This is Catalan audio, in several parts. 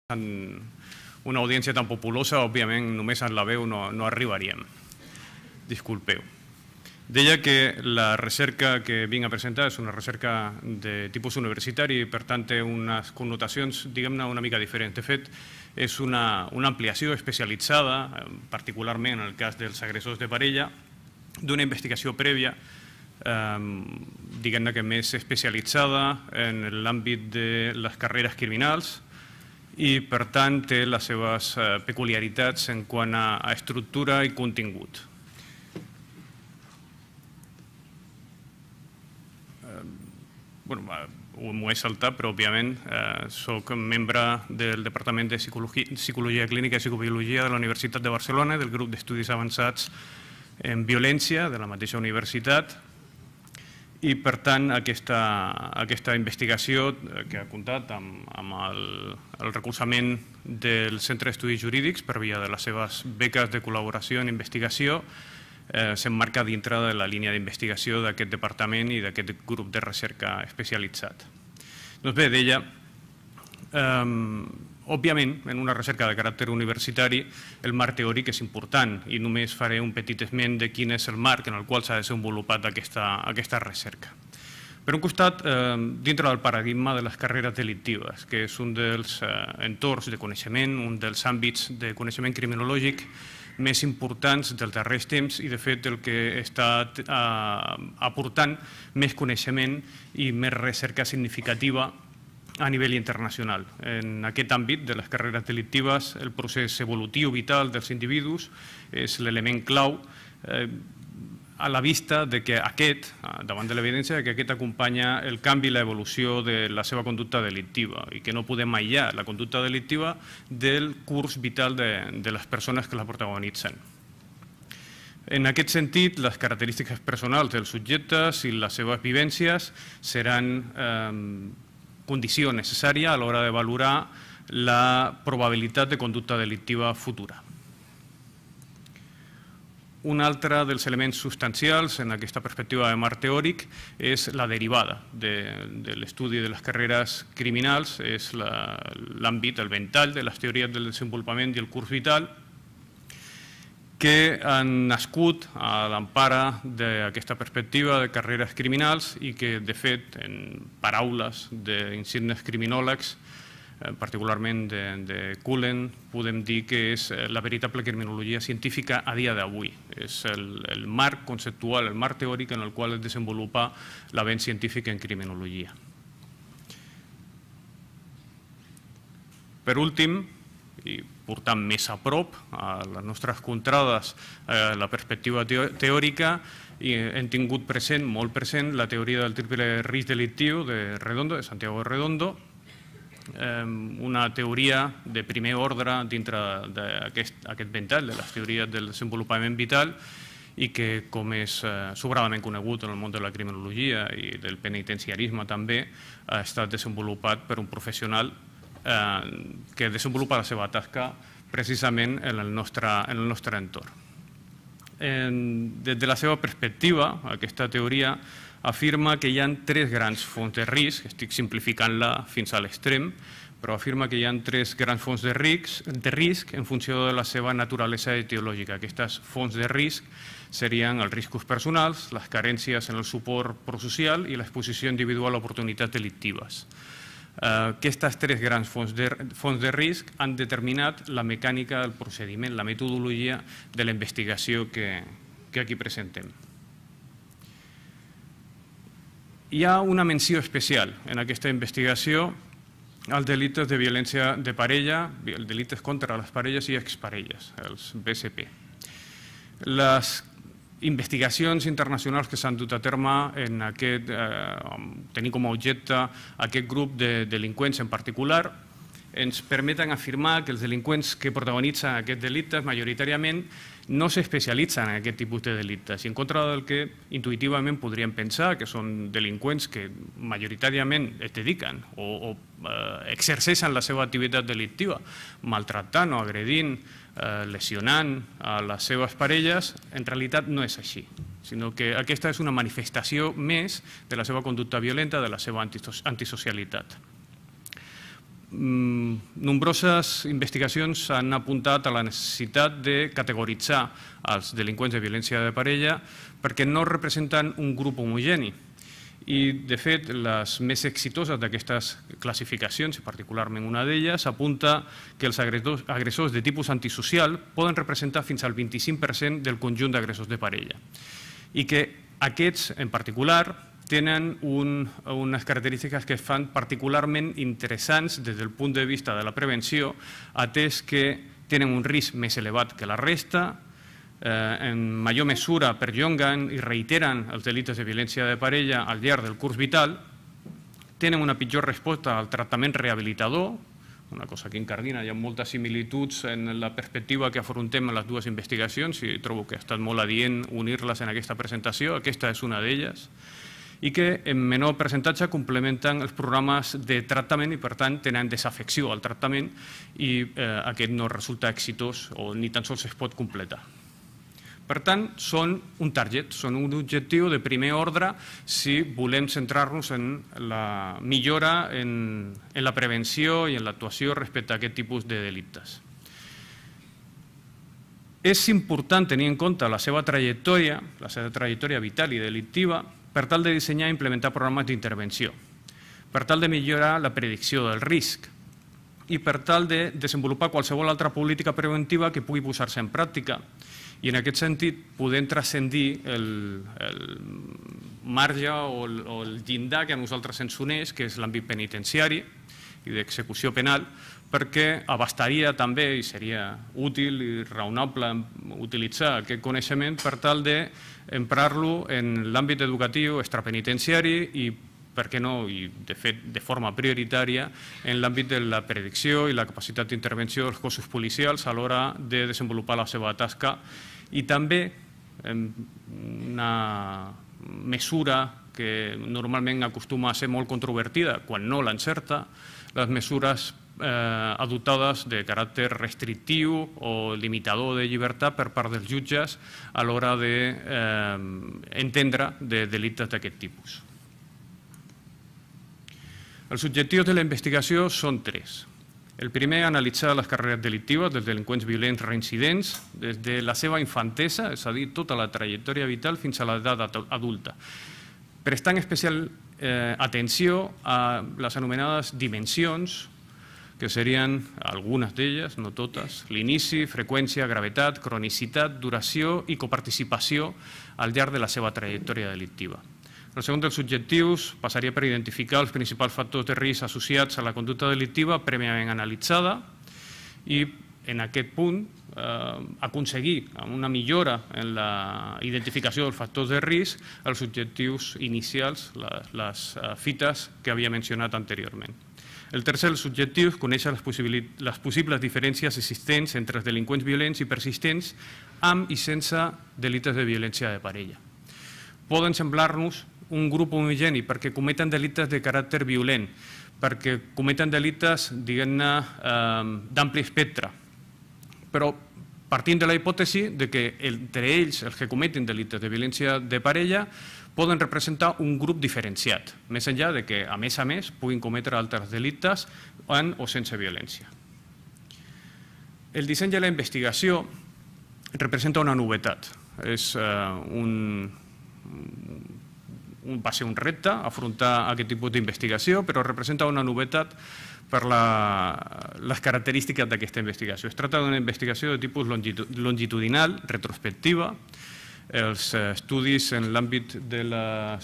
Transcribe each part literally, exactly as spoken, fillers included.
en una audiència tan populosa, òbviament, només en la veu no, no arribaríem. Disculpeu. Deia que la recerca que vinc a presentar és una recerca de tipus universitari i, per tant, té unes connotacions, diguem-ne, una mica diferents. De fet, és una, una ampliació especialitzada, particularment en el cas dels agressors de parella, d'una investigació prèvia, eh, diguem-ne que més especialitzada en l'àmbit de les carreres criminals, i, per tant, té les seves peculiaritats en quant a estructura i contingut. M'ho he saltat, però, òbviament, soc membre del Departament de Psicologia Clínica i Psicobiologia de la Universitat de Barcelona, del grup d'estudis avançats en violència de la mateixa universitat, i, per tant, aquesta investigació que ha comptat amb el recolzament del Centre d'Estudis Jurídics per via de les seves beques de col·laboració en investigació s'emmarca dintre de la línia d'investigació d'aquest departament i d'aquest grup de recerca especialitzat. Doncs bé, deia, òbviament, en una recerca de caràcter universitari, el marc teòric és important i només faré un petit esment de quin és el marc en el qual s'ha desenvolupat aquesta recerca. Per un costat, dintre del paradigma de les carreres delictives, que és un dels entorns de coneixement, un dels àmbits de coneixement criminològic més importants dels darrers temps i, de fet, el que està aportant més coneixement i més recerca significativa a nivell internacional. En aquest àmbit de les carreres delictives, el procés evolutiu vital dels individus és l'element clau a la vista que aquest, davant de l'evidència, que aquest acompanya el canvi i l'evolució de la seva conducta delictiva i que no podem aïllar la conducta delictiva del curs vital de les persones que la protagonitzen. En aquest sentit, les característiques personals dels subjectes i les seves vivències seran condició necessària a l'hora de valorar la probabilitat de conducta delictiva futura. Un altre dels elements substancials en aquesta perspectiva de marc teòric és la derivada de l'estudi de les carreres criminals, és l'àmbit, el ventall de les teories del desenvolupament i el curs vital, que han nascut a l'empara d'aquesta perspectiva de carreres criminals i que, de fet, en paraules d'insignes criminòlegs, particularment de Cullen, podem dir que és la veritable criminologia científica a dia d'avui. És el marc conceptual, el marc teòric en el qual es desenvolupa l'avenç científic en criminologia. Per últim, i portant més a prop a les nostres contrades la perspectiva teòrica, hem tingut present, molt present, la teoria del triple risc delictiu de Redondo, de Santiago Redondo, una teoria de primer ordre dintre d'aquest ventall de les teories del desenvolupament vital i que, com és sobradament conegut en el món de la criminologia i del penitenciarisme també, ha estat desenvolupat per un professional que desenvolupa la seva tasca precisament en el nostre entorn. Des de la seva perspectiva, aquesta teoria afirma que hi ha tres grans fonts de risc, estic simplificant-la fins a l'extrem, però afirma que hi ha tres grans fonts de risc en funció de la seva naturalesa etiològica. Aquestes fonts de risc serien els riscos personals, les carències en el suport prosocial i l'exposició individual a oportunitats delictives. Aquestes tres grans fonts de risc han determinat la mecànica del procediment, la metodologia de la investigació que aquí presentem. Hi ha una menció especial en aquesta investigació als delictes de violència de parella, els delictes contra les parelles i exparelles, els B S P. Les investigacions internacionals que s'han dut a terme en aquest, tenint com a objecte aquest grup de delinqüents en particular, ens permeten afirmar que els delinqüents que protagonitzen aquests delictes majoritàriament no s'especialitzen en aquest tipus de delictes, i en contra del que intuïtivament podríem pensar, que són delinqüents que majoritàriament es dediquen o exerceixen la seva activitat delictiva maltractant o agredint, lesionant a les seves parelles, en realitat no és així, sinó que aquesta és una manifestació més de la seva conducta violenta, de la seva antisocialitat. nombroses investigacions han apuntat a la necessitat de categoritzar els delinqüents de violència de parella perquè no representen un grup homogeni. I, de fet, les més exitoses d'aquestes classificacions, i particularment una d'elles, apunta que els agressors de tipus antisocial poden representar fins al vint-i-cinc per cent del conjunt d'agressors de parella i que aquests, en particular, tenen unes característiques que fan particularment interessants des del punt de vista de la prevenció, atès que tenen un risc més elevat que la resta, en major mesura perllonguen i reiteren els delictes de violència de parella al llarg del curs vital, tenen una pitjor resposta al tractament rehabilitador, una cosa que incardina, hi ha moltes similituds en la perspectiva que afrontem en les dues investigacions i trobo que ha estat molt adient unir-les en aquesta presentació, aquesta és una d'elles, i que en menor percentatge complementen els programes de tractament i, per tant, tenen desafecció al tractament i aquest no resulta exitós o ni tan sols es pot completar. Per tant, són un target, són un objectiu de primer ordre si volem centrar-nos en la millora en la prevenció i en l'actuació respecte a aquest tipus de delictes. És important tenir en compte la seva trajectòria, la seva trajectòria vital i delictiva, per tal de dissenyar i implementar programes d'intervenció, per tal de millorar la predicció del risc i per tal de desenvolupar qualsevol altra política preventiva que pugui posar-se en pràctica i en aquest sentit podem transcendir el marge o el llindar que a nosaltres ens uneix, que és l'àmbit penitenciari i d'execució penal, perquè abastaria també i seria útil i raonable utilitzar aquest coneixement per tal d'emprar-lo en l'àmbit educatiu extrapenitenciari i, per què no, i de fet de forma prioritària, en l'àmbit de la predicció i la capacitat d'intervenció dels cossos policials a l'hora de desenvolupar la seva tasca i també una mesura que normalment acostuma a ser molt controvertida quan no l'encerta, les mesures adoptades de caràcter restrictiu o limitador de llibertat per part dels jutges a l'hora d'entendre de delictes d'aquest tipus. Els objectius de la investigació són tres. El primer, analitzar les carreres delictives dels delinqüents violents reincidents des de la seva infantesa, és a dir, tota la trajectòria vital fins a l'edat adulta, prestant especial atenció a les anomenades dimensions, que serien algunes d'elles, no totes, l'inici, freqüència, gravetat, cronicitat, duració i coparticipació al llarg de la seva trajectòria delictiva. El segon dels objectius passaria per identificar els principals factors de risc associats a la conducta delictiva prèviament analitzada i en aquest punt aconseguir una millora en la identificació dels factors de risc els objectius inicials, les fites que havia mencionat anteriorment. El tercer dels objectius, conèixer les possibles diferències existents entre els delinqüents violents i persistents amb i sense delictes de violència de parella. Poden semblar-nos un grup homogeni perquè cometen delictes de caràcter violent, perquè cometen delictes, diguem-ne, d'ampli espectre, però partint de la hipòtesi que entre ells, els que cometen delictes de violència de parella, poden representar un grup diferenciat, més enllà de que, a més a més, puguin cometre altres delictes amb o sense violència. El disseny de la investigació representa una novetat. Va ser un repte afrontar aquest tipus d'investigació, però representa una novetat per les característiques d'aquesta investigació. Es tracta d'una investigació de tipus longitudinal, retrospectiva. Els estudis en l'àmbit de la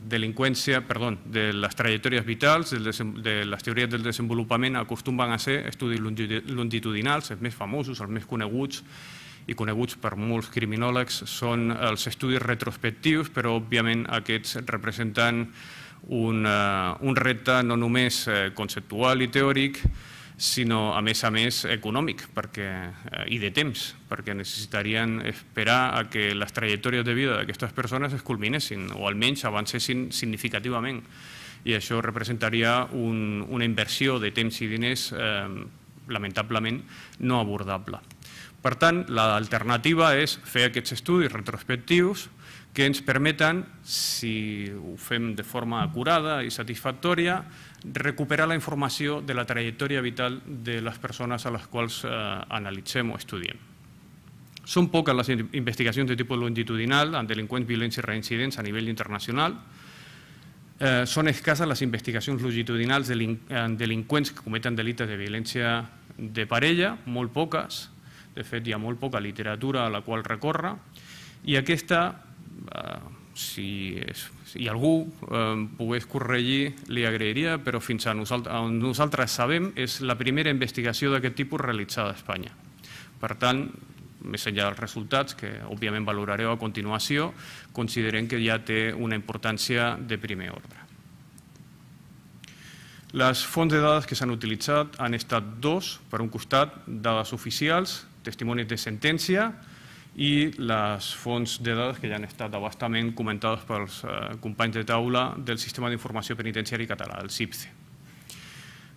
delinqüència, perdó, de les trajectòries vitals, de les teories del desenvolupament, acostumen a ser estudis longitudinals, els més famosos, els més coneguts i coneguts per molts criminòlegs, són els estudis retrospectius, però òbviament aquests representen un repte no només conceptual i teòric, sinó, a més a més, econòmic i de temps, perquè necessitarien esperar a que les trajectòries de vida d'aquestes persones es culminessin o almenys avancessin significativament. I això representaria una inversió de temps i diners lamentablement no abordable. Per tant, l'alternativa és fer aquests estudis retrospectius que ens permeten, si ho fem de forma acurada i satisfactòria, recuperar la informació de la trajectòria vital de les persones a les quals eh, analitzem o estudiem. Són poques les investigacions de tipus longitudinal en delinqüents, violents i reincidents a nivell internacional. Eh, són escasses les investigacions longitudinals en delinqüents que cometen delictes de violència de parella, molt poques. De fet, hi ha molt poca literatura a la qual recórrer. I aquesta, eh, si, és, si algú eh, pogués corregir, li agrairia, però fins a nosaltres, on nosaltres sabem, és la primera investigació d'aquest tipus realitzada a Espanya. Per tant, més enllà dels resultats, que òbviament valorareu a continuació, considerem que ja té una importància de primer ordre. Les fonts de dades que s'han utilitzat han estat dos, per un costat, dades oficials, testimonis de sentència, i les fonts de dades que ja han estat abastament comentades pels eh, companys de taula del Sistema d'Informació Penitenciari Català, el S I P C E.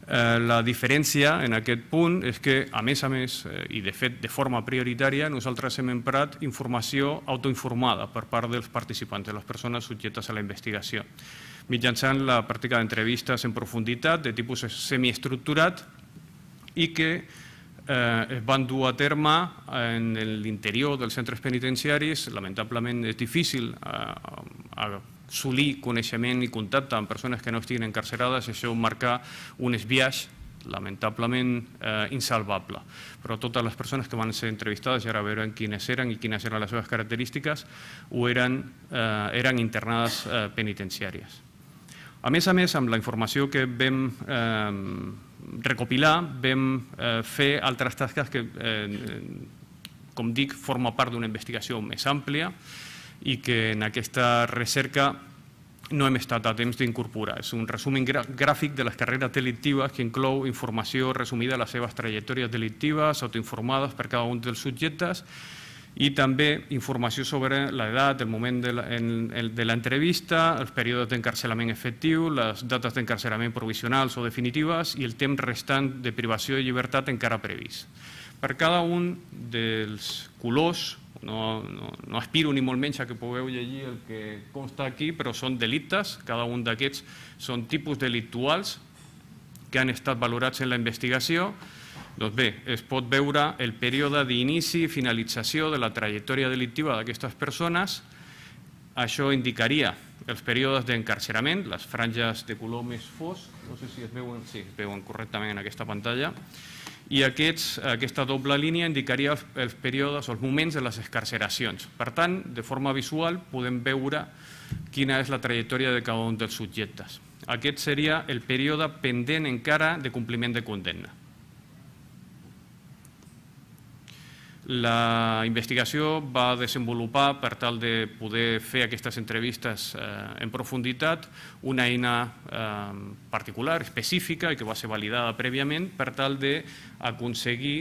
Eh, la diferència en aquest punt és que, a més a més, eh, i de fet de forma prioritària, nosaltres hem emprat informació autoinformada per part dels participants, de les persones subjectes a la investigació, mitjançant la pràctica d'entrevistes en profunditat de tipus semiestructurat i que eh, es van dur a terme en l'interior dels centres penitenciaris. Lamentablement és difícil eh, assolir coneixement i contacte amb persones que no estiguin encarcerades, això marca un esbiaix lamentablement eh, insalvable. Però totes les persones que van ser entrevistades, ja ara veurem quines eren i quines eren les seves característiques, ho eren, eh, eren internades eh, penitenciàries. A més a més, amb la informació que vam eh, recopilar, vam eh, fer altres tasques que, eh, com dic, forma part d'una investigació més àmplia i que en aquesta recerca no hem estat a temps d'incorporar. És un resum gràfic de les carreres delictives que inclou informació resumida de les seves trajectòries delictives, autoinformades per cada un dels subjectes, i també informació sobre l'edat, el moment de l'entrevista, els períodes d'encarcelament efectiu, les dates d'encarcelament provisionals o definitives i el temps restant de privació de llibertat encara previst. Per cada un dels colors, no, no, no aspiro ni molt menys a que pugueu llegir el que consta aquí, però són delictes, cada un d'aquests són tipus delictuals que han estat valorats en la investigació. Doncs bé, es pot veure el període d'inici i finalització de la trajectòria delictiva d'aquestes persones. Això indicaria els períodes d'encarcerament, les franges de color més fosc, no sé si es veuen, sí, es veuen correctament en aquesta pantalla, i aquests, aquesta doble línia indicaria els, els períodes, els moments de les excarceracions. Per tant, de forma visual podem veure quina és la trajectòria de cada un dels subjectes. Aquest seria el període pendent encara de compliment de condemna. La investigació va desenvolupar, per tal de poder fer aquestes entrevistes en profunditat, una eina particular, específica, i que va ser validada prèviament, per tal d'aconseguir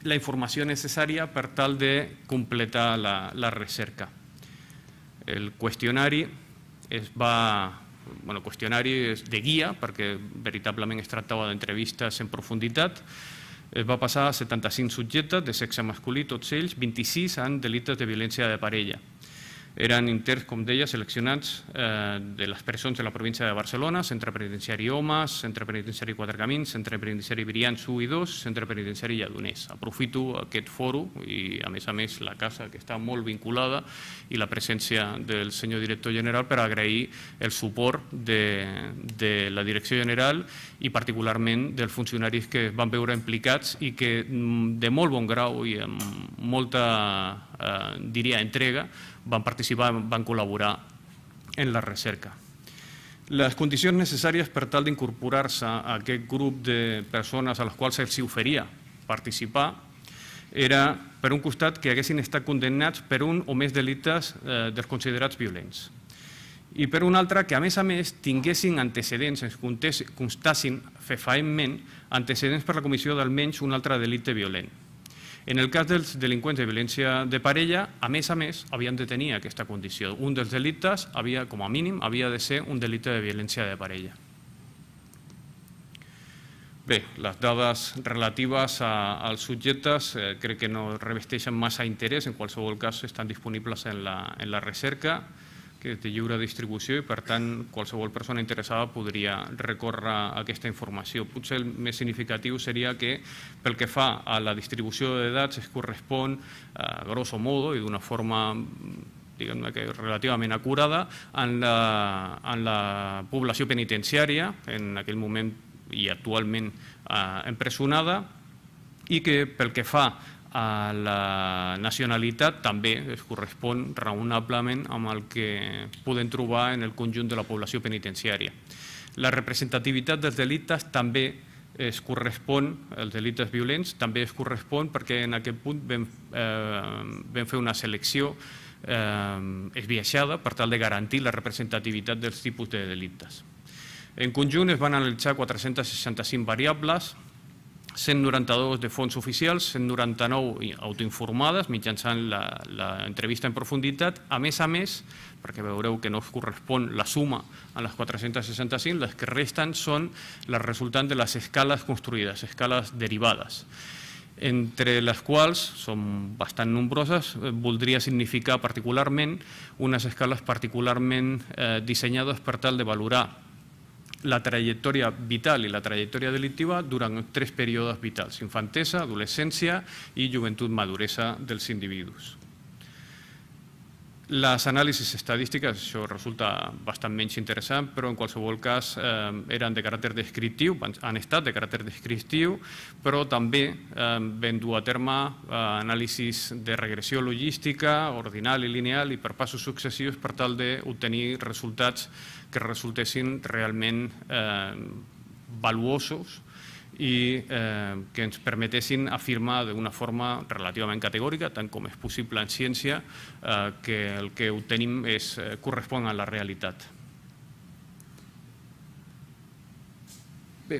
la informació necessària per tal de completar la recerca. El qüestionari es va... Bueno, el qüestionari és de guia, perquè veritablement es tractava d'entrevistes en profunditat. Es va passar a setanta-cinc subjectes de sexe masculí, tots ells, vint-i-sis en delictes de violència de parella. Eren interns, com deia, seleccionats de les presons de la província de Barcelona, Centre Penitenciari Homes, Centre Penitenciari Quatre Camins, Centre Penitenciari Brians u i dos, Centre Penitenciari Lledoners. Aprofito aquest foro i, a més a més, la casa, que està molt vinculada, i la presència del senyor director general per agrair el suport de la direcció general i particularment dels funcionaris que van veure implicats i que de molt bon grau i amb molta, diria, entrega, van participar, van col·laborar en la recerca. Les condicions necessàries per tal d'incorporar-se a aquest grup de persones a les quals se'ls oferia participar era, per un costat, que haguessin estat condemnats per un o més delictes dels considerats violents. I per un altre, que a més a més tinguessin antecedents, ens constassin fefaentment antecedents per la comissió d'almenys un altre delicte violent. En el cas dels delinqüents de violència de parella, a més a més, havien de tenir aquesta condició. Un dels delictes, com a mínim, havia de ser un delicte de violència de parella. Bé, les dades relatives a, als subjectes eh, crec que no revesteixen massa interès, en qualsevol cas estan disponibles en la, en la recerca, que és de lliure distribució i per tant qualsevol persona interessada podria recórrer a aquesta informació. Potser el més significatiu seria que pel que fa a la distribució de dats es correspon, a grosso modo i d'una forma diguem-ne que relativament acurada, en la, en la població penitenciària, en aquell moment i actualment eh, empresonada, i que pel que fa a la nacionalitat també es correspon raonablement amb el que podem trobar en el conjunt de la població penitenciària. La representativitat dels delictes també es correspon, els delictes violents, també es correspon perquè en aquest punt vam, eh, vam fer una selecció eh, esbiaixada per tal de garantir la representativitat dels tipus de delictes. En conjunt es van analitzar quatre-cents seixanta-cinc variables, cent noranta-dos de fonts oficials, cent noranta-nou autoinformades mitjançant l'entrevista en profunditat. A més a més, perquè veureu que no es correspon la suma a les quatre-cents seixanta-cinc, les que resten són les resultants de les escales construïdes, escales derivades, entre les quals, són bastant nombroses, voldria significar particularment unes escales particularment eh, dissenyades per tal de valorar la trajectòria vital i la trajectòria delictiva durant tres períodes vitals: infantesa, adolescència i joventut maduresa dels individus. Les anàlisis estadístiques, això resulta bastant menys interessant, però en qualsevol cas eh, eren de caràcter descriptiu, han estat de caràcter descriptiu, però també eh, vam dur a terme eh, anàlisis de regressió logística, ordinal i lineal i per passos successius per tal d'obtenir resultats que resultessin realment eh, valuosos i eh, que ens permetessin afirmar d'una forma relativament categòrica, tant com és possible en ciència, eh, que el que obtenim és, eh, correspon a la realitat. Bé,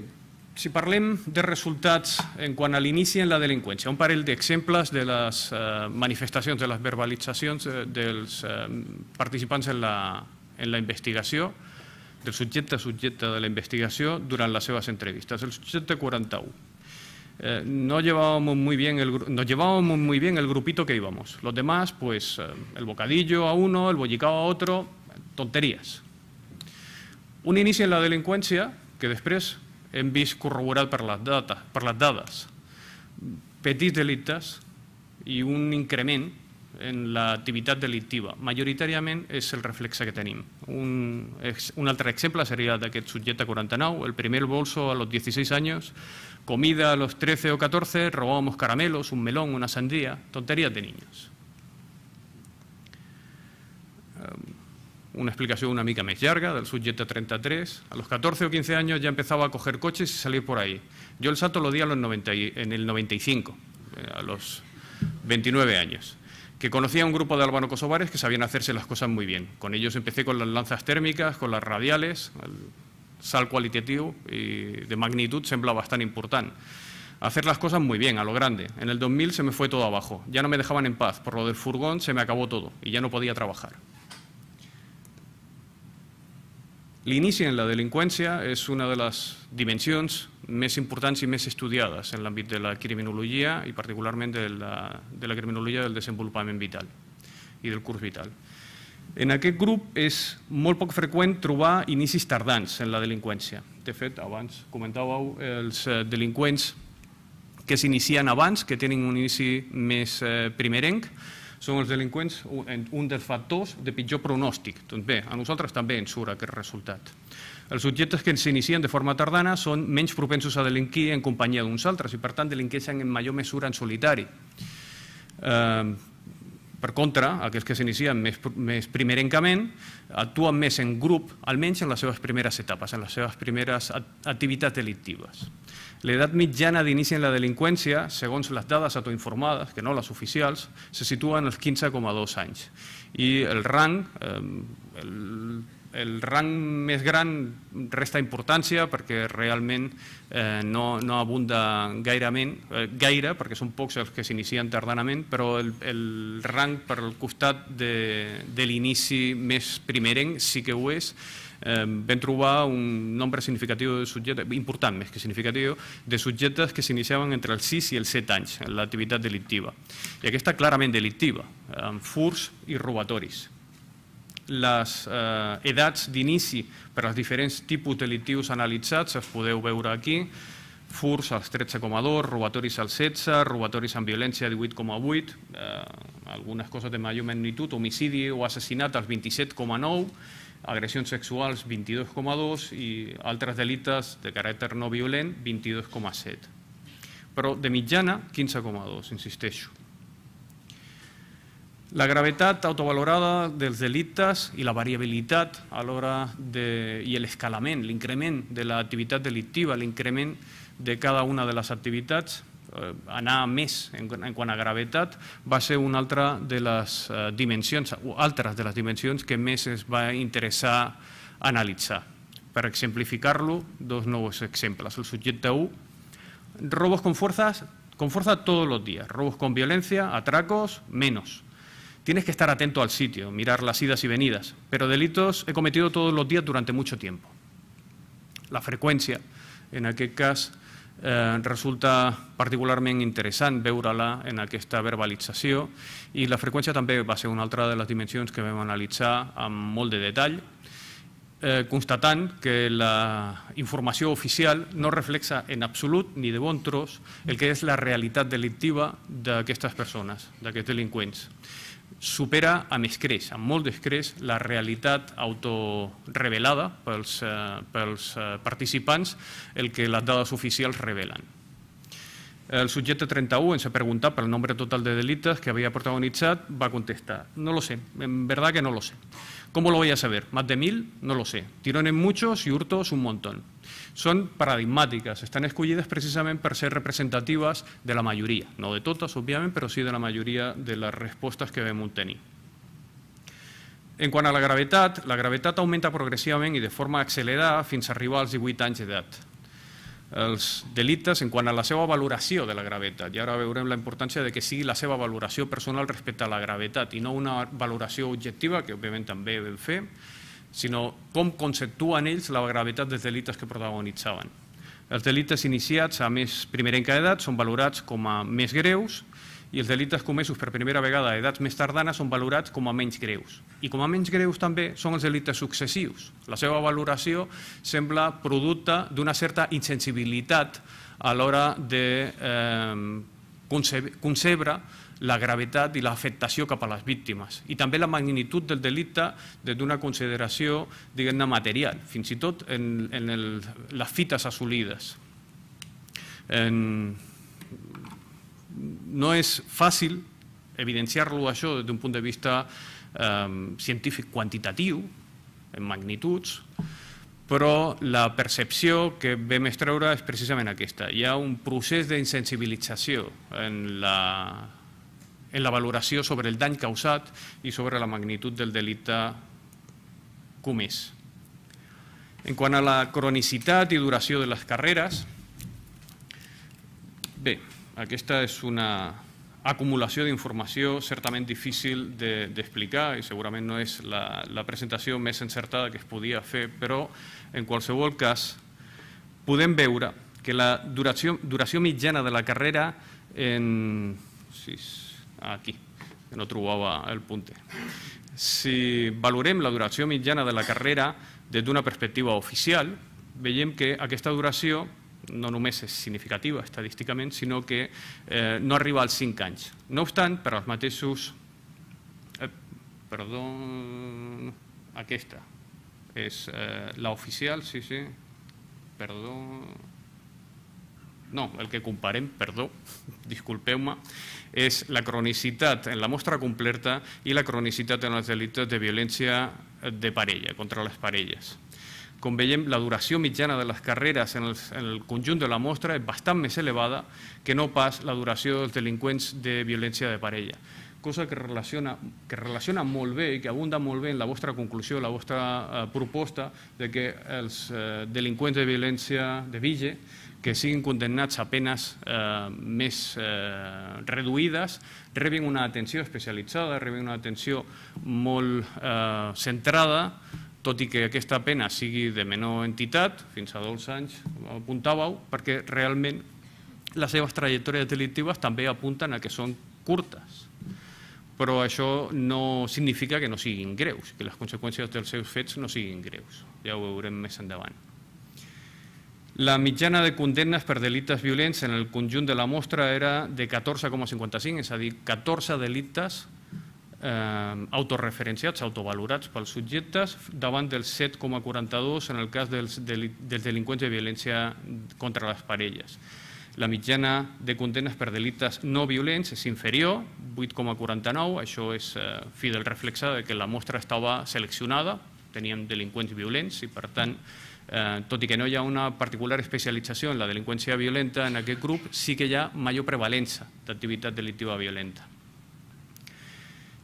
si parlem de resultats en quant a l'inici en la delinqüència, un parell d'exemples de les eh, manifestacions, de les verbalitzacions eh, dels eh, participants en la, en la investigació, del subjecte subjecte de la investigació durant las seves entrevistas. El subjecte quaranta-u. Eh, no, llevábamos muy bien el, nos llevábamos muy bien el grupito que íbamos. Los demás, pues eh, el bocadillo a uno, el bollicao a otro, tonteries. Un inici en la delinqüència que després hem vist corroborat per les, data, per les dades. Petits delictes i un increment en l'activitat delictiva. Majoritàriament és el reflexe que tenim. Un, un altre exemple seria d'aquest subjecte quaranta-nou, el primer bolso a los dieciséis años, comida a los trece o catorce, robábamos caramelos, un melón, una sandía, tonterías de niños. Una explicació una mica més llarga del subjecte treinta-tres. A los catorce o quince años ya empezaba a coger coches y salir por ahí. Yo el salto lo di a los noventa, en el noventa y cinco, a los veintinueve años. Que conocía a un grupo de albano-kosovares que sabían hacerse las cosas muy bien. Con ellos empecé con las lanzas tèrmiques, con las radiales, el salt cualitatiu y de magnitud sembla bastante important. Hacer las cosas muy bien, a lo grande. En el dos mil se me fue todo abajo. Ya no me dejaban en paz. Por lo del furgón se me acabó todo y ya no podía trabajar. L'inici en la delinqüència és una de les dimensions més importants i més estudiades en l'àmbit de la criminologia i particularment de la, de la criminologia del desenvolupament vital i del curs vital. En aquest grup és molt poc freqüent trobar inicis tardans en la delinqüència. De fet, abans comentàveu els delinqüents que s'inicien abans, que tenen un inici més primerenc, són els delinqüents un dels factors de pitjor pronòstic. Doncs bé, a nosaltres també ens surt aquest resultat. Els subjectes que s'inicien de forma tardana són menys propensos a delinquir en companyia d'uns altres i, per tant, delinqueixen en major mesura en solitari. Per contra, aquells que s'inicien més, més primerencament actuen més en grup, almenys en les seves primeres etapes, en les seves primeres activitats delictives. L'edat mitjana d'inici en la delinqüència, segons les dades autoinformades, que no les oficials, se situa en els quinze coma dos anys. I el rang, el, el rang més gran resta importància perquè realment eh, no, no abunda gairament, eh, gaire, perquè són pocs els que s'inicien tardanament, però el, el rang per al costat de, de l'inici més primerenc sí que ho és. Eh, vam trobar un nombre significatiu de subjectes, important més que significatiu, de subjectes que s'iniciaven entre els sis i els set anys en l'activitat delictiva. I aquesta clarament delictiva, amb furts i robatoris. Les eh, edats d'inici per als diferents tipus delictius analitzats es podeu veure aquí. Furts als tretze coma dos, robatoris als setze, robatoris amb violència divuit coma vuit, eh, algunes coses de major magnitud, homicidi o assassinat als vint-i-set coma nou, agressions sexuals vint-i-dos coma dos i altres delictes de caràcter no violent vint-i-dos coma set. Però de mitjana quinze coma dos, insisteixo. La gravetat autovalorada dels delictes i la variabilitat a l'hora de, i l'escalament, l'increment de l'activitat delictiva, l'increment de cada una de les activitats, eh, anar més en, en quant a gravetat, va ser una altra de les eh, dimensions, o altres de les dimensions que més es va interessar analitzar. Per exemplificar-lo, dos nous exemples. El subjecte u, robos con fuerzas, con fuerza todos los días, robos con violencia, atracos, menos. Tienes que estar atento al sitio, mirar las idas y venidas, pero delitos he cometido todos los días durante mucho tiempo. La freqüència, en aquest cas, eh, resulta particularment interessant veure-la en aquesta verbalització i la freqüència també va ser una altra de les dimensions que vam analitzar amb molt de detall, eh, constatant que la informació oficial no reflexa en absolut ni de bon tros el que és la realitat delictiva d'aquestes persones, d'aquests delinqüents. Supera amb escreix, amb molt d'escreix, la realitat autorevelada pels, eh, pels eh, participants, el que les dades oficials revelen. El subjecte treinta u, ens ha preguntat pel nombre total de delitos que había protagonizado, va a contestar, no lo sé, en verdad que no lo sé. ¿Cómo lo voy a saber? ¿Más de mil? No lo sé. Tirones muchos y hurtos un montón. Són paradigmàtiques, estan escollides precisament per ser representatives de la majoria, no de totes, òbviament, però sí de la majoria de les respostes que vam obtenir. En quant a la gravetat, la gravetat augmenta progressivament i de forma accelerada fins a arribar als divuit anys d'edat. Els delictes, en quant a la seva valoració de la gravetat, i ara veurem la importància de que sigui la seva valoració personal respecte a la gravetat i no una valoració objectiva, que òbviament també vam fer, sinó com conceptuen ells la gravetat dels delictes que protagonitzaven. Els delictes iniciats a més primerenca edat són valorats com a més greus i els delictes comesos per primera vegada a edats més tardanes són valorats com a menys greus. I com a menys greus també són els delictes successius. La seva valoració sembla producte d'una certa insensibilitat a l'hora de eh, concebre la gravetat i l'afectació cap a les víctimes i també la magnitud del delicte des d'una consideració, diguem-ne, material, fins i tot en, en el, les fites assolides. En, no és fàcil evidenciar-lo això des d'un punt de vista eh, científic quantitatiu, en magnituds, però la percepció que vam extreure és precisament aquesta. Hi ha un procés d'insensibilització en la en la valoració sobre el dany causat i sobre la magnitud del delicte comès. En quant a la cronicitat i duració de les carreres, bé, aquesta és una acumulació d'informació certament difícil d'explicar i segurament no és la, la presentació més encertada que es podia fer, però en qualsevol cas podem veure que la duració, duració mitjana de la carrera en... Sí, aquí, que no trobava el punter. Si valorem la duració mitjana de la carrera des d'una perspectiva oficial, veiem que aquesta duració no només és significativa estadísticament, sinó que eh, no arriba als cinc anys. No obstant, per als mateixos... Eh, perdó... Aquesta és eh, la oficial, sí, sí. Perdó... No, el que comparem, perdó, disculpeu-me, és la cronicitat en la mostra completa i la cronicitat en els delictes de violència de parella, contra les parelles. Com veiem, la duració mitjana de les carreres en el conjunt de la mostra és bastant més elevada que no pas la duració dels delinqüents de violència de parella. cosa que relaciona, que relaciona molt bé i que abunda molt bé en la vostra conclusió, la vostra eh, proposta de que els eh, delinqüents de violència de Vige que siguin condemnats a penes eh, més eh, reduïdes, rebin una atenció especialitzada, rebin una atenció molt eh, centrada, tot i que aquesta pena sigui de menor entitat, fins a dos anys, com apuntàveu, perquè realment les seves trajectòries delictives també apunten a que són curtes. Però això no significa que no siguin greus, que les conseqüències dels seus fets no siguin greus. Ja ho veurem més endavant. La mitjana de condemnes per delictes violents en el conjunt de la mostra era de catorze coma cinquanta-cinc, és a dir, catorze delictes eh, autoreferenciats, autovalorats pels subjectes, davant dels set coma quaranta-dos en el cas dels, dels delinqüents de violència contra les parelles. La mitjana de condemnes per delictes no violents és inferior, vuit coma quaranta-nou, això és eh, fi del reflexe de que la mostra estava seleccionada, teníem delinqüents violents i, per tant, Eh, tot i que no hi ha una particular especialització en la delinqüència violenta en aquest grup, sí que hi ha major prevalença d'activitat delictiva violenta.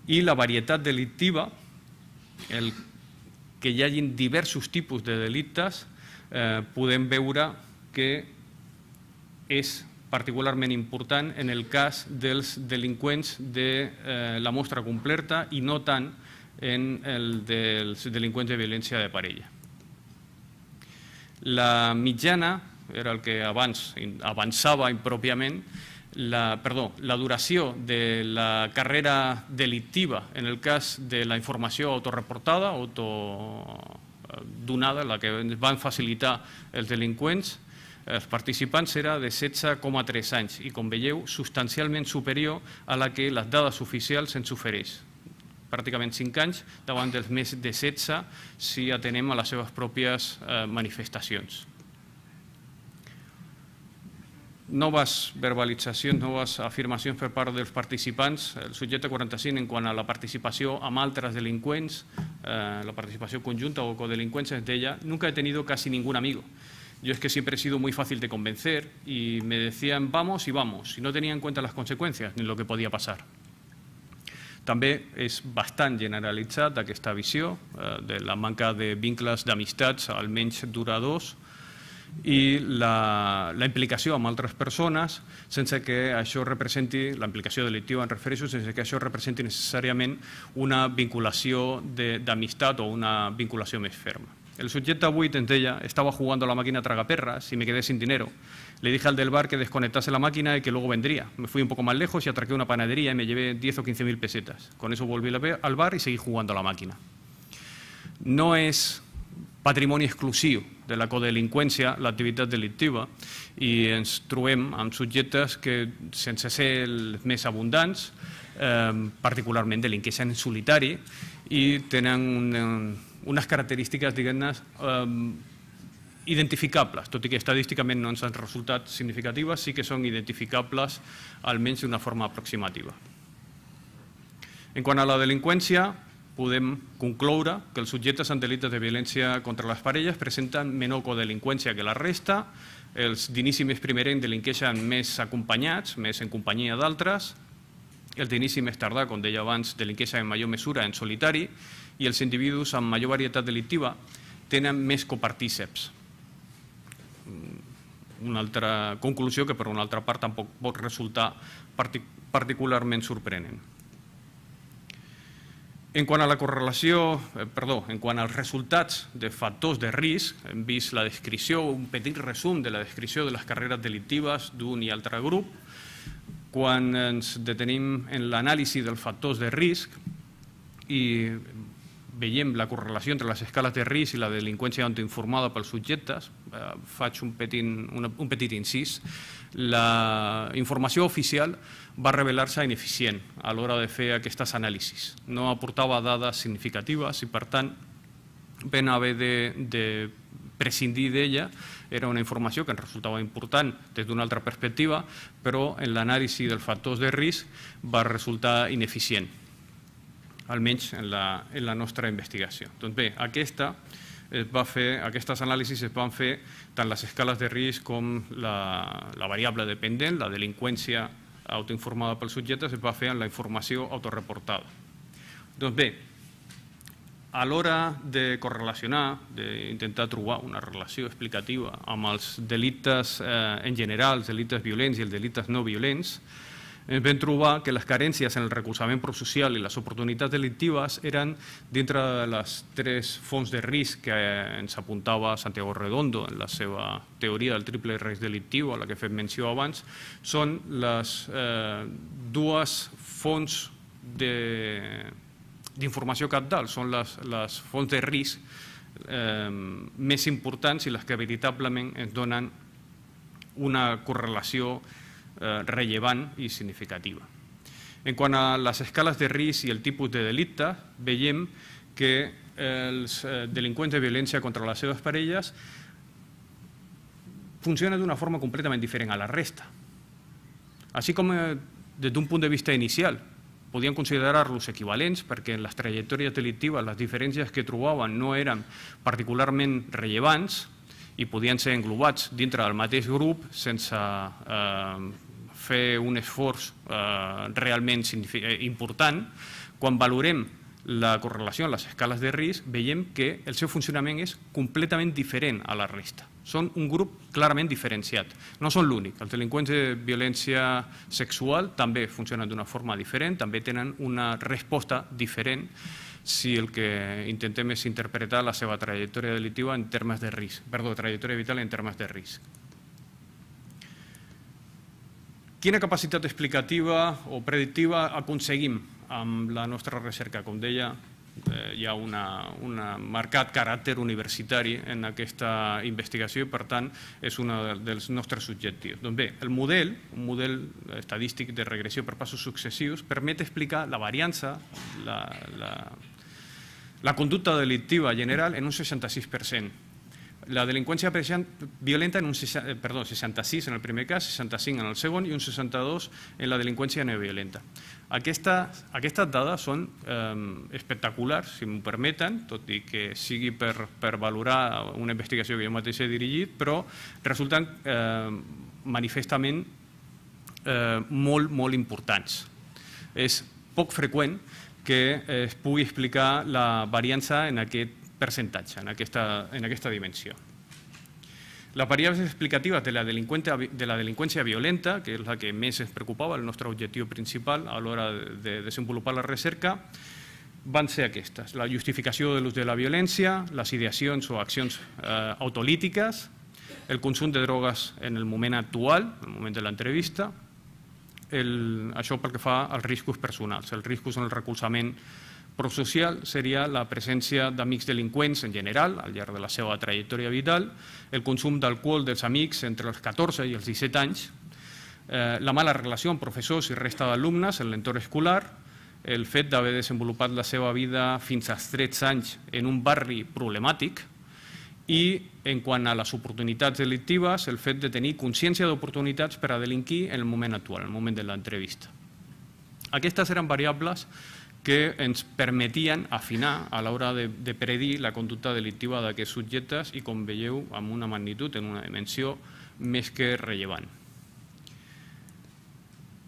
I la varietat delictiva, el que hi hagin diversos tipus de delictes, eh, podem veure que és particularment important en el cas dels delinqüents de eh, la mostra completa i no tant en el dels delinqüents de violència de parella. La mitjana, era el que abans avançava impròpiament, la, perdó, la duració de la carrera delictiva en el cas de la informació autoreportada, autodonada, la que van facilitar els delinqüents, els participants era de setze coma tres anys i, com veieu, substancialment superior a la que les dades oficials ens ofereix. Pràcticament cinc anys, davant dels més de setze si atenem a les seves pròpies eh, manifestacions. Noves verbalitzacions, noves afirmacions per part dels participants. El subjecte quaranta-cinc, en quant a la participació amb altres delinqüents, eh, la participació conjunta o codelincuencia, es deia: nunca he tenido casi ningún amigo. Yo es que siempre he sido muy fácil de convencer y me decían vamos y vamos, y no tenía en cuenta las consecuencias ni lo que podía pasar. També és bastant generalitzat aquesta visió eh, de la manca de vincles d'amistats, almenys duradors, i la, la implicació amb altres persones sense que això representi, la implicació delictiva en refereixo, sense que això representi necessàriament una vinculació d'amistat o una vinculació més ferma. El subjecte vuit ens deia: estaba jugando a la máquina tragaperras y me quedé sin dinero. Le dije al del bar que desconectase la máquina y que luego vendría. Me fui un poco más lejos y atraqué una panadería y me llevé diez o quince mil pesetas. Con eso volví al bar y seguí jugando a la máquina. No és patrimoni exclusiu de la codelinqüència l'activitat delictiva i ens trobem amb subjectes que, sense ser els més abundants, eh, particularment delinqueixen en solitari i tenen un, unes característiques, diguem-ne, eh, identificables, tot i que estadísticament no ens han resultat significatives, sí que són identificables almenys d'una forma aproximativa. En quant a la delinqüència, podem concloure que els subjectes en delictes de violència contra les parelles presenten menor codelinqüència que la resta, els d'inici més primerenc delinqueixen més acompanyats, més en companyia d'altres, els d'inici més tardà, com deia abans, delinqueixen en major mesura en solitari i els individus amb major varietat delictiva tenen més copartíceps. Una altra conclusió que per una altra part tampoc pot resultar particularment sorprenent. En quant a la correlació, perdó, en quant als resultats de factors de risc, hem vist la descripció, un petit resum de la descripció de les carreres delictives d'un i altre grup. Quan ens detenim en l'anàlisi dels factors de risc i veiem la correlació entre les escales de risc i la delinqüència autoinformada pels subjectes, faig un petit, un petit incís. La informació oficial va revelar-se ineficient a l'hora de fer aquestes anàlisis. No aportava dades significatives i, per tant, vam haver de, de prescindir d'ella. Era una informació que ens resultava important des d'una altra perspectiva, però en l'anàlisi dels factors de risc va resultar ineficient, almenys en la, en la nostra investigació. Doncs bé, aquesta es va fer, aquestes anàlisis es van fer tant les escales de risc com la, la variable dependent, la delinqüència autoinformada pel subjecte es va fer en la informació autoreportada. Doncs bé, a l'hora de correlacionar, d'intentar trobar una relació explicativa amb els delictes eh, en general, els delictes violents i els delictes no violents, ens vam trobar que les carències en el recolzament prosocial i les oportunitats delictives eren dintre de les tres fonts de risc que ens apuntava Santiago Redondo en la seva teoria del triple risc delictiu, a la que he fet menció abans, són les eh, dues fonts de d'informació cabdal, són les, les fonts de risc eh, més importants i les que veritablement ens donen una correlació eh, rellevant i significativa. En quant a les escales de risc i el tipus de delicte, veiem que els eh, delinqüents de violència contra les seves parelles funcionen d'una forma completament diferent a la resta. Així com eh, des d'un punt de vista inicial, podien considerar-los equivalents perquè en les trajectòries delictives les diferències que trobaven no eren particularment rellevants i podien ser englobats dintre del mateix grup sense eh, fer un esforç eh, realment important. Quan valorem la correlació en les escales de risc, veiem que el seu funcionament és completament diferent a la resta. Són un grup clarament diferenciat. No són l'únic. Els delinqüents de violència sexual també funcionen d'una forma diferent, també tenen una resposta diferent si el que intentem és interpretar la seva trajectòria delictiva en termes de risc, perdó, trajectòria vital en termes de risc. Quina capacitat explicativa o predictiva aconseguim amb la nostra recerca? Com deia, hi ha un marcat caràcter universitari en aquesta investigació i, per tant, és un dels nostres objectius. Doncs bé, el model, un model estadístic de regressió per passos successius, permet explicar la variança, la, la, la conducta delictiva general en un seixanta-sis per cent. La delinqüència violenta en un perdó, seixanta-sis en el primer cas, seixanta-cinc en el segon i un seixanta-dos en la delinqüència no violenta. Aquestes, aquestes dades són eh, espectaculars, si m'ho permeten, tot i que sigui per, per valorar una investigació que jo mateix he dirigit, però resulten eh, manifestament eh, molt, molt importants. És poc freqüent que es pugui explicar la variança en aquest percentatge, en aquesta, en aquesta dimensió. Les variables explicatives de la, de la delinqüència violenta, que és la que més ens preocupava, el nostre objectiu principal a l'hora de desenvolupar la recerca, van ser aquestes: la justificació de l'ús de la violència, les ideacions o accions eh, autolítiques, el consum de drogues en el moment actual, en el moment de l'entrevista, això pel que fa als riscos personals. Els riscos en el recolzament prosocial seria la presència d'amics delinqüents en general al llarg de la seva trajectòria vital, el consum d'alcohol dels amics entre els catorze i els disset anys, eh, la mala relació amb professors i resta d'alumnes en l'entorn escolar, el fet d'haver desenvolupat la seva vida fins als tretze anys en un barri problemàtic i, en quant a les oportunitats delictives, el fet de tenir consciència d'oportunitats per a delinquir en el moment actual, en el moment de l'entrevista. Aquestes eren variables que ens permetien afinar a l'hora de, de predir la conducta delictiva d'aquests subjectes i, com veieu, amb una magnitud, en una dimensió més que rellevant.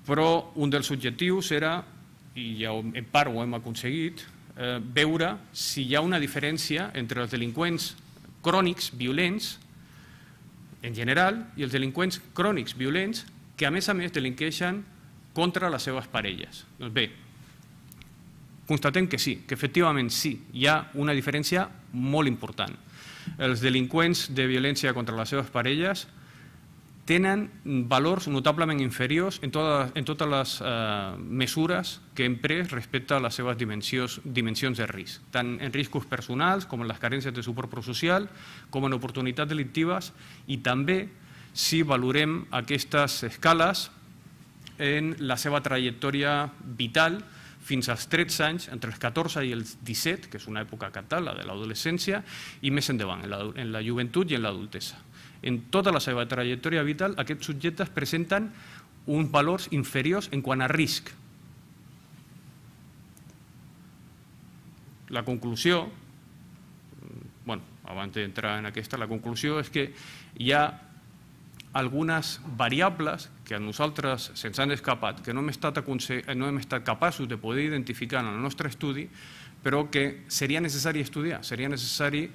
Però un dels objectius era, i ja en part ho hem aconseguit, eh, veure si hi ha una diferència entre els delinqüents crònics violents en general i els delinqüents crònics violents que, a més a més, delinqueixen contra les seves parelles. Doncs bé, constatem que sí, que efectivament sí, hi ha una diferència molt important. Els delinqüents de violència contra les seves parelles tenen valors notablement inferiors en totes, en totes les eh, mesures que hem pres respecte a les seves dimensions, dimensions de risc, tant en riscos personals com en les carències de suport prosocial, com en oportunitats delictives, i també si valorem aquestes escales en la seva trajectòria vital fins als tretze anys, entre els catorze i els disset, que és una època cabdal, la de l'adolescència, i més endavant, en la, en la joventut i en l'adultesa. En tota la seva trajectòria vital, aquests subjectes presenten uns valors inferiors en quant a risc. La conclusió, bueno, abans d'entrar en aquesta, la conclusió és que hi ha algunes variables que a nosaltres se'ns han escapat, que no hem estat, no hem estat capaços de poder identificar en el nostre estudi, però que seria necessari estudiar, seria necessari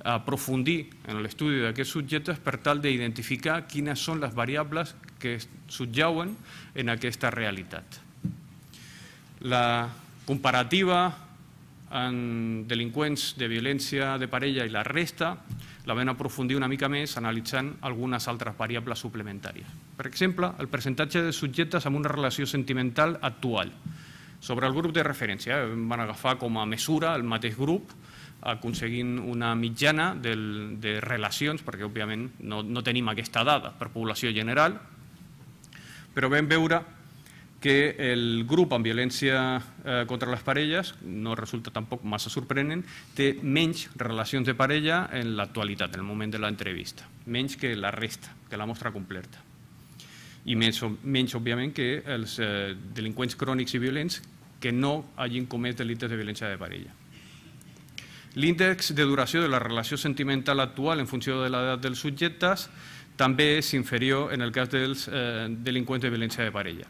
aprofundir en l'estudi d'aquests subjectes per tal d'identificar quines són les variables que subjauen en aquesta realitat. La comparativa en delinqüents de violència de parella i la resta la vam aprofundir una mica més analitzant algunes altres variables suplementàries. Per exemple, el percentatge de subjectes amb una relació sentimental actual. Sobre el grup de referència, van agafar com a mesura el mateix grup, aconseguint una mitjana de relacions, perquè òbviament no tenim aquesta dada per població general, però vam veure que el grup amb violència contra les parelles, no resulta tampoc massa sorprenent, té menys relacions de parella en l'actualitat, en el moment de l'entrevista, menys que la resta, que la mostra completa. I menys, òbviament, que els delinqüents crònics i violents que no hagin comès delictes de violència de parella. L'índex de duració de la relació sentimental actual en funció de l'edat dels subjectes també és inferior en el cas dels delinqüents de violència de parella.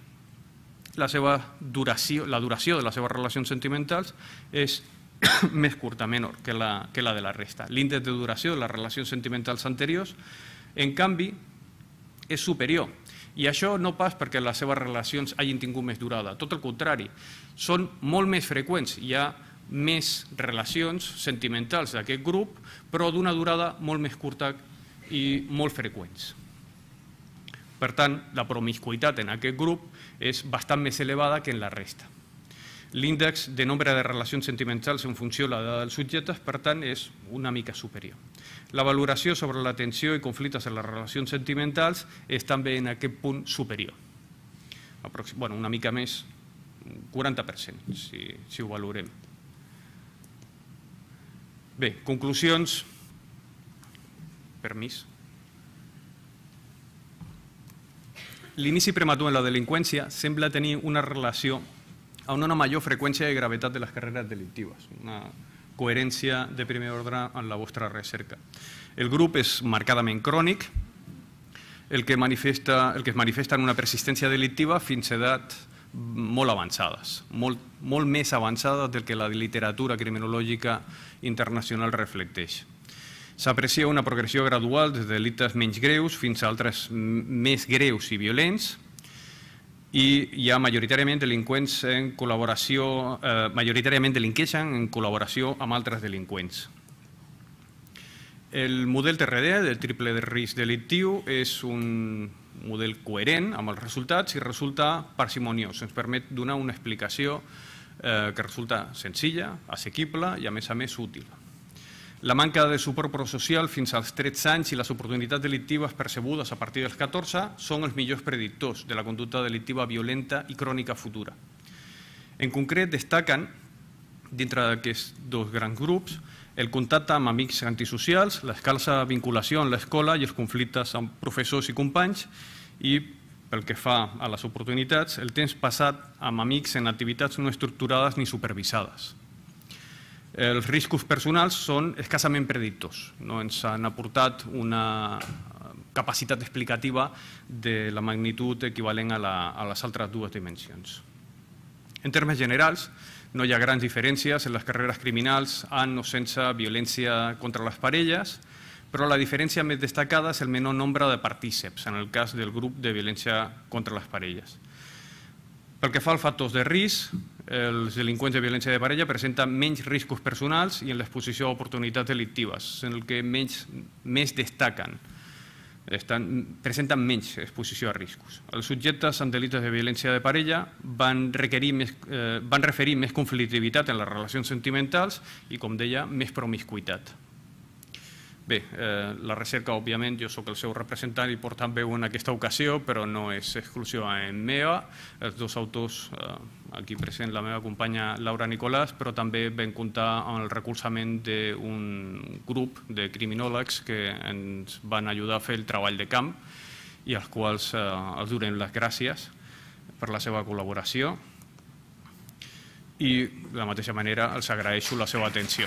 La duració de les seves relacions sentimentals és més curta, menor que la de la resta. L'índex de duració de les relacions sentimentals anteriors, en canvi, és superior. I això no pas perquè les seves relacions hagin tingut més durada, tot el contrari, són molt més freqüents. Hi ha més relacions sentimentals d'aquest grup, però d'una durada molt més curta i molt freqüents. Per tant, la promiscuïtat en aquest grup és bastant més elevada que en la resta. L'índex de nombre de relacions sentimentals en funció de l'edat dels subjectes, per tant, és una mica superior. La valoració sobre la tensió i conflictes en les relacions sentimentals és també en aquest punt superior. Bueno, una mica més, quaranta per cent, si ho valorem. Bé, conclusions. Permís. L'inici prematur en la delinqüència sembla tenir una relació amb una major freqüència i gravetat de les carreres delictives, una coherència de primer ordre en la vostra recerca. El grup és marcadament crònic, el que es manifesta en una persistència delictiva fins a edats molt avançades, molt més avançades del que la literatura criminològica internacional reflecteix. S'aprecia una progressió gradual des de delictes menys greus fins a altres més greus i violents, i hi ha majoritàriament delinqüents en col·laboració, majoritàriament delinqueixen en col·laboració amb altres delinqüents. El model T R D, del triple de risc delictiu, és un model coherent amb els resultats i resulta parsimoniós. Ens permet donar una explicació que resulta senzilla, assequible i, a més a més, útil. La manca de suport prosocial fins als tretze anys i les oportunitats delictives percebudes a partir dels catorze són els millors predictors de la conducta delictiva violenta i crònica futura. En concret, destaquen, dintre d'aquests dos grans grups, el contacte amb amics antisocials, l'escassa vinculació en l'escola i els conflictes amb professors i companys, i, pel que fa a les oportunitats, el temps passat amb amics en activitats no estructurades ni supervisades. Els riscos personals són escassament predictors, no ens han aportat una capacitat explicativa de la magnitud equivalent a les altres dues dimensions. En termes generals, no hi ha grans diferències en les carreres criminals amb o sense violència contra les parelles, però la diferència més destacada és el menor nombre de partíceps en el cas del grup de violència contra les parelles. Pel que fa als factors de risc, els delinqüents de violència de parella presenten menys riscos personals i en l'exposició a oportunitats delictives, en el que més destaquen, presenten menys exposició a riscos. Els subjectes amb delictes de violència de parella van referir més conflictivitat en les relacions sentimentals i, com deia, més promiscuïtat. Bé, la recerca, òbviament, jo soc el seu representant i per tant veu en aquesta ocasió, però no és exclusivament meva. Els dos autors, aquí present la meva companya Laura Nicolàs, però també vam comptar amb el recolzament d'un grup de criminòlegs que ens van ajudar a fer el treball de camp i als quals els donem les gràcies per la seva col·laboració i, de la mateixa manera, els agraeixo la seva atenció.